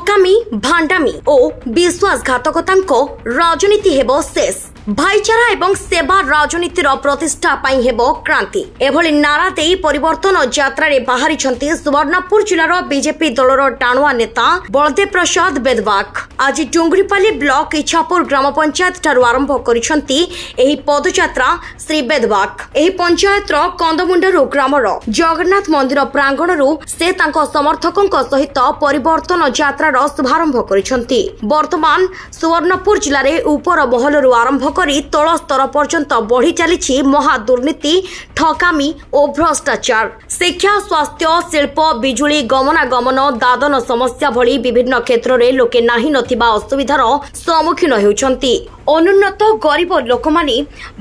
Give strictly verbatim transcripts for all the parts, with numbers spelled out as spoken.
ଠକାମି, ଭାଣ୍ଡାମି ଓ ବିଶ୍ୱାସଘାତକତାଙ୍କ ରାଜନୀତି ହେବ ଶେଷ। ଭାଇଚାରା ଏବଂ ସେବା ରାଜନୀତିର ପ୍ରତିଷ୍ଠା ପାଇଁ ହେବ କ୍ରାନ୍ତି। ଏଭଳି ନାରା ଦେଇ ପରିବର୍ତ୍ତନ ଯାତ୍ରାରେ ବାହାରିଛନ୍ତି ସୁବର୍ଣ୍ଣପୁର ଜିଲ୍ଲାର ବିଜେପି ଦଳର ଟାଣୁଆ ନେତା ବଳଦେବ ପ୍ରସାଦ ବେଦବାଗ। ଆଜି ଡୁଙ୍ଗୁରିପାଲି ବ୍ଲକ ଇଛାପୁର ଗ୍ରାମ ପଞ୍ଚାୟତ ଠାରୁ ଆରମ୍ଭ କରିଛନ୍ତି ଏହି ପଦଯାତ୍ରା ଶ୍ରୀ ବେଦବାଗ। ଏହି ପଞ୍ଚାୟତର କନ୍ଦମୁଣ୍ଡାରୁ ଗ୍ରାମର ଜଗନ୍ନାଥ ମନ୍ଦିର ପ୍ରାଙ୍ଗଣରୁ ସେ ତାଙ୍କ ସମର୍ଥକଙ୍କ ସହିତ ପରିବର୍ତ୍ତନ ଯାତ୍ରାର ଶୁଭାରମ୍ଭ କରିଛନ୍ତି। ବର୍ତ୍ତମାନ ସୁବର୍ଣ୍ଣପୁର ଜିଲ୍ଲାରେ ଉପର ମହଲରୁ ଆରମ୍ଭ କରି ତଳ ସ୍ତର ପର୍ଯ୍ୟନ୍ତ ବଢ଼ି ଚାଲିଛି ମହା ଦୁର୍ନୀତି, ଠକାମି ଓ ଭ୍ରଷ୍ଟାଚାର। ଶିକ୍ଷା, ସ୍ୱାସ୍ଥ୍ୟ, ଶିଳ୍ପ, ବିଜୁଳି, ଗମନାଗମନ, ଦାଦନ ସମସ୍ୟା ଭଳି ବିଭିନ୍ନ କ୍ଷେତ୍ରରେ ଲୋକେ ନାହିଁ ନଥିବା ଅସୁବିଧାର ସମ୍ମୁଖୀନ ହେଉଛନ୍ତି। ଅନୁନ୍ନତ ଗରିବ ଲୋକମାନେ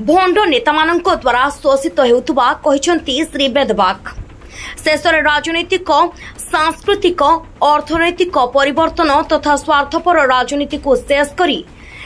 ଭଣ୍ଡ ନେତାମାନଙ୍କ ଦ୍ୱାରା ଶୋଷିତ ହେଉଥିବା କହିଛନ୍ତି ଶ୍ରୀ ବେଦବାଗ। ଶେଷରେ ରାଜନୈତିକ, ସାଂସ୍କୃତିକ, ଅର୍ଥନୈତିକ ପରିବର୍ତ୍ତନ ତଥା ସ୍ୱାର୍ଥପର ରାଜନୀତିକୁ ଶେଷ କରି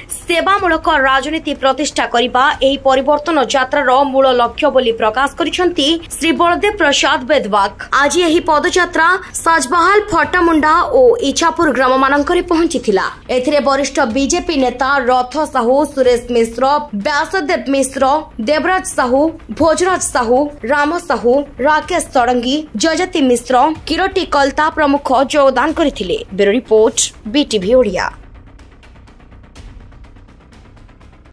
ସେବାମୂଳକ ରାଜନୀତି ପ୍ରତିଷ୍ଠା କରିବା ଏହି ପରିବର୍ତ୍ତନ ଯାତ୍ରାର ମୂଳ ଲକ୍ଷ୍ୟ ବୋଲି ପ୍ରକାଶ କରିଛନ୍ତି ଶ୍ରୀ ବଳଦେବ ପ୍ରସାଦ ବେଦବାଗ। ଆଜି ଏହି ପଦଯାତ୍ରା ସାଜବାହାଲ, ଫଟାମୁଣ୍ଡା ଓ ଇଛାପୁର ଗ୍ରାମମାନଙ୍କରେ ପହଞ୍ଚିଥିଲା। ଏଥିରେ ବରିଷ୍ଠ ବିଜେପି ନେତା ରଥ ସାହୁ, ସୁରେଶ ମିଶ୍ର, ବ୍ୟାସଦେବ ମିଶ୍ର, ଦେବରାଜ ସାହୁ, ଭୋଜରାଜ ସାହୁ, ରାମ ସାହୁ, ରାକେଶ ଷଡ଼ଙ୍ଗୀ, ଜୟଜାତି ମିଶ୍ର, କିରଟି କଲତା ପ୍ରମୁଖ ଯୋଗଦାନ କରିଥିଲେ। Bureau report, BTV Odia.